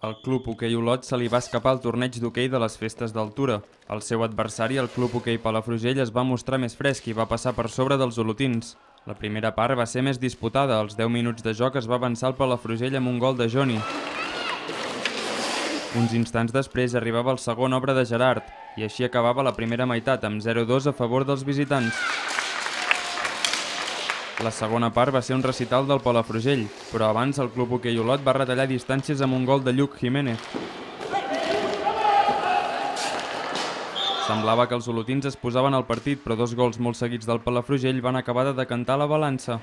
El Club Hoquei Olot se li va escapar al torneig d'hoquei de les festes d'altura. El seu adversari, el Club Hoquei Palafrugell, es va mostrar més fresc i va passar per sobre dels olotins. La primera part va ser més disputada. Als 10 minuts de joc es va avançar el Palafrugell amb un gol de Joni. Uns instants després arribava el segon, obra de Gerard, i així acabava la primera meitat amb 0-2 a favor dels visitants. La segona part va ser un recital del Palafrugell, però abans el Club Hoquei Olot va retallar distàncies amb un gol de Lluc Jiménez. Semblava que els olotins es posaven al partit, però dos gols molt seguits del Palafrugell van acabar de decantar la balança.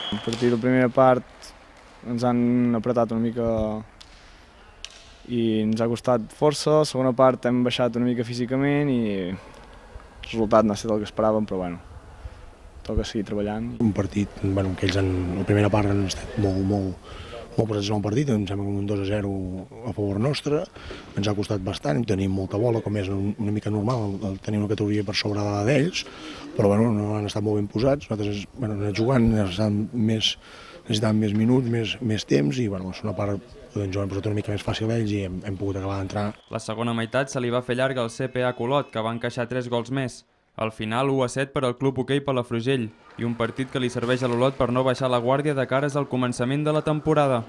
A partir de la primera part ens han apretat una mica i ens ha costat força. La segona part hem baixat una mica físicament i el resultat no ha estat el que esperàvem, però bueno, toca seguir treballant. Un partit que ells en la primera part han estat molt presents en el partit, em sembla que un 2-0 a favor nostre, ens ha costat bastant, tenim molta bola, com és una mica normal, tenir una categoria per sobre d'ells, però bueno, no han estat molt ben posats, nosaltres hem anat jugant, necessitàvem més minuts, més temps, i bueno, és una part que ens ho hem posat una mica més fàcil ells i hem pogut acabar d'entrar. La segona meitat se li va fer llarga al CPA Olot, que va encaixar 3 gols més. Al final, 1-7 per al Club Hoquei Palafrugell, i un partit que li serveix a l'Olot per no baixar la guàrdia de cares al començament de la temporada.